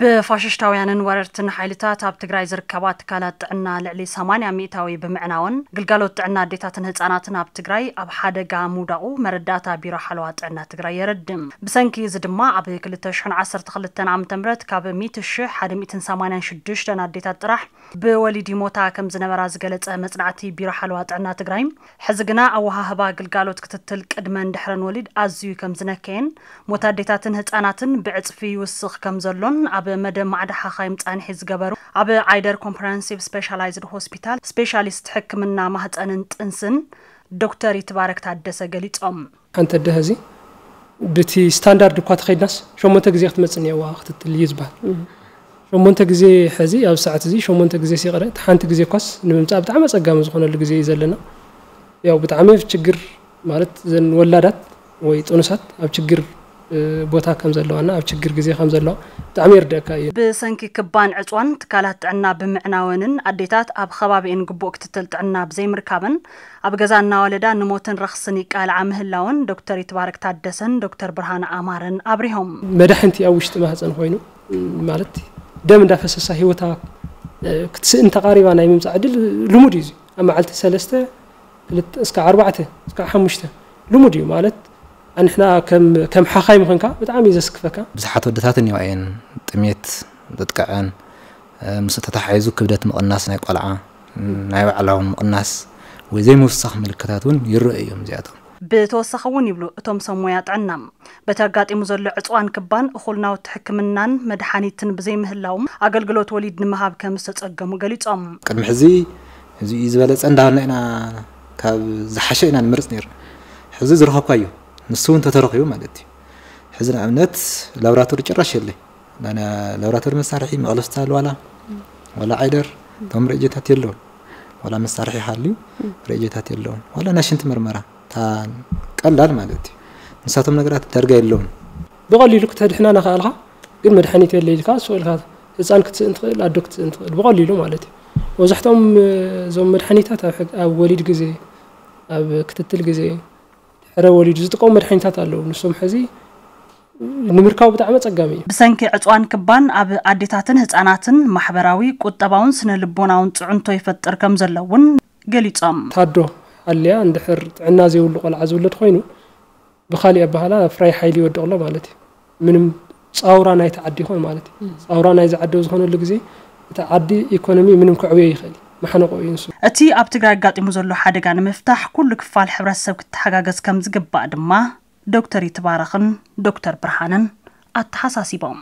ብፋሽሽታውያንን ወረርትን ሓይልታት ኣብ ትግራይ ዝርከባ ትካላት ጥዕና ልዕሊ ሰማንያ ሚእታዊ ብምዕናወን፣ ግልጋሎት ጥዕና ኣዴታትን ህጻናትን ኣብ ትግራይ ኣብ ሓደጋ ምውዳቑ መረዳእታ ቢሮ ሓለዋ ጥዕና ትግራይ የረድም። ብሰንኪ እዚ ድማ ኣብ ክልተ ሽሕን ዓሰርተ ክልተን ዓመተ ምህረት ካብ ሚእቲ ሽሕ ሓደ ሚእትን ሰማንያን ሽዱሽተን ኣዴታት ጥራሕ ብወሊድ ይሞታ ከም ዝነበራ ዝገለጸ መጽናዕቲ ቢሮ ሓለዋ ጥዕና ትግራይ፣ ሕዚ ግና ኣወሃህባ ግልጋሎት ክትትል ቅድመን ድሕረን ወሊድ ኣዝዩ ከም ዝነከየን፣ ሞት ኣዴታትን ህጻናትን ብዕጽፊ ይውስኽ ከም ዘሎን ኣብ መደብ ማዕዳ ሓኻይም ጻንሒ ዝገበሩ ኣብ ዓይደር ኮምፕረሄንሲቭ ስፔሻላይዝድ ሆስፒታል ስፔሻሊስት ሕክምና ማህጸንን ጥንስን ዶክተር ይትባረክ ታደሰ ገሊጾም። ሓንቲ ኣደ ሕዚ ብቲ ስታንዳርድ እኳ ተኸይድናስ ሸሞንተ ግዜ ክትመጽእ እኒአዋ ክትትል እዩ ዝበሃል። ሸሞንተ ግዜ ሕዚ ኣብ ሰዓት እዚ ሸሞንተ ግዜ ሲቕረ፣ እቲ ሓንቲ ግዜ እኳስ ንምምጻእ ብጣዕሚ ኣጸጋሚ ዝኾነሉ ግዜ እዩ ዘለና። ያው ብጣዕሚ ችግር ማለት ዘን ወላዳት ወይ ጥኑሳት ኣብ ችግር፣ እ፣ ቦታ ከም ዘለዋና ኣብ ችግር ግዜ ከም ዘለዋ ብጣዕሚ ይርደእካ እዩ። ብሰንኪ ክባን ዕጽዋን ትካላት ጥዕና ብምዕናወንን ኣዴታት ኣብ ከባቢኤን ግቡእ ክትትል ጥዕና ብዘይምርካበን ኣብ ገዛ እናወለዳ ንሞትን ረኽስን ይቃልዓ ምህላወን ዶክተር ይትባረክ ታደሰን ዶክተር ብርሃነ ኣማረን ኣብሪሆም። መዳሕንቲ ኣብ ውሽጢ ማህፀን ኮይኑ፣ ም፣ ማለት ደም እንዳፈሰሳ ህይወታ፣ እ፣ ክትስእን ተቓሪባ ናይ ምምፃእ ዕድል ልሙድ እዩ። እዚ ኣብ መዓልቲ ሰለስተ፣ ክልተ፣ እስከ ኣርባዕተ፣ እስከ ሓሙሽተ ልሙድ እዩ። ማለት ኣንሕና ከም፣ ከም ሓኻይ ምኾንካ ብጣዕሚ እዩ ዘስክፈካ። ብዙሓት ወደታት እኒዋ እየን ጥሜት ዘጥቅዐን፣ እ፣ ምስ ተተሓሒዙ ክብደት ምቕናስ ናይ ቆልዓ፣ ናይ ባዕላ እውን ምቕናስ ወይ ዘይምውሳኽ ምልክታት እውን ይረኣዩ እዮም እዚኣቶም። ብተወሳኺ እውን ይብሉ እቶም ሰብ ሞያ ጥዕና፣ በቲ ኣጋጢሙ ዘሎ ዕፅዋን ክባን እኹል ናውቲ ሕክምናን መድሓኒትን ብዘይምህላዎም ኣገልግሎት ወሊድ ንምሃብ ከም ዝተፀገሙ ገሊፆም። ቅድሚ ሕዚ እዚ እዩ ዝበለፀ እንዳበልና ኢና ካብ ዝሓሸ ኢና ንመርፅ ነይርና። ሕዚ ዝረኸብካዮ ንሱ እውን ተተረኺቡ ማለት እዩ። ሕዚ ንኣብነት ላብራቶሪ ጭራሽ የለይ። ላብራቶሪ መሳርሒ መቕለስቲ ኣልዋላ ዋላ ዓይደር እቶም ሬጀታት የለውን። ዋላ መሳርሒ ሃልዩ ሬጀታት የለውን። ዋላ ናይ ሽንቲ ምርመራ እታ ቀላል ማለት እዩ። ንሳቶም ነገራት ዳርጋ የለውን። ብቐሊሉ ክትድሕና ናኸኣልካ ግን መድሓኒት የለ ኢልካ ስቕ ኢልካ ህፃን ክትስእን ትኽእል፣ ኣዶ ክትስእን ትኽእል ብቐሊሉ ማለት እዩ። መብዛሕትኦም እዞም መድሓኒታት ኣብ ሕግ-፣ ኣብ ወሊድ ግዜ፣ ኣብ ክትትል ግዜ፣ ድሕረ ወሊዱ ዝጥቀሙ መድሓኒታት ኣለዉ። ንሶም ሕዚ ንምርካቡ ብጣዕሚ ኣጸጋሚ እዩ። ብሰንኪ ዕፅዋን ክባን ኣብ ኣዴታትን ህፃናትን ማሕበራዊ፣ ቁጠባውን ስነ ልቦናውን ፅዕንቶ ይፈጥር ከም ዘሎ እውን ገሊፆም። ታዶ ሃልያ እንድሕር ጥዕና ዘይብሉ ቆልዓ ዝውለድ ኮይኑ ብኻሊእ ኣባህላ ፍራይ ሓይሊ ይወድቕ ኣሎ ማለት እዩ። ምንም ጻውራ ናይቲ ዓዲ ይኾን ማለት እዩ። ጻውራ ናይዚ ዓዲ ኣብ ዝኾነሉ ግዜ እቲ ዓዲ ኢኮኖሚ ምንም ክዕብዮ ይኽእል እዩ። ማሕነቆ እዩ ንሱ። እቲ ኣብ ትግራይ ኣጋጢሙ ዘሎ ሓደጋ ንምፍታሕ ኩሉ ክፋል ሕብረተሰብ ክተሓጋገዝ ከም ዝግባእ ድማ ዶክተር ይትባረኽን ዶክተር ብርሃንን ኣተሓሳሲቦም።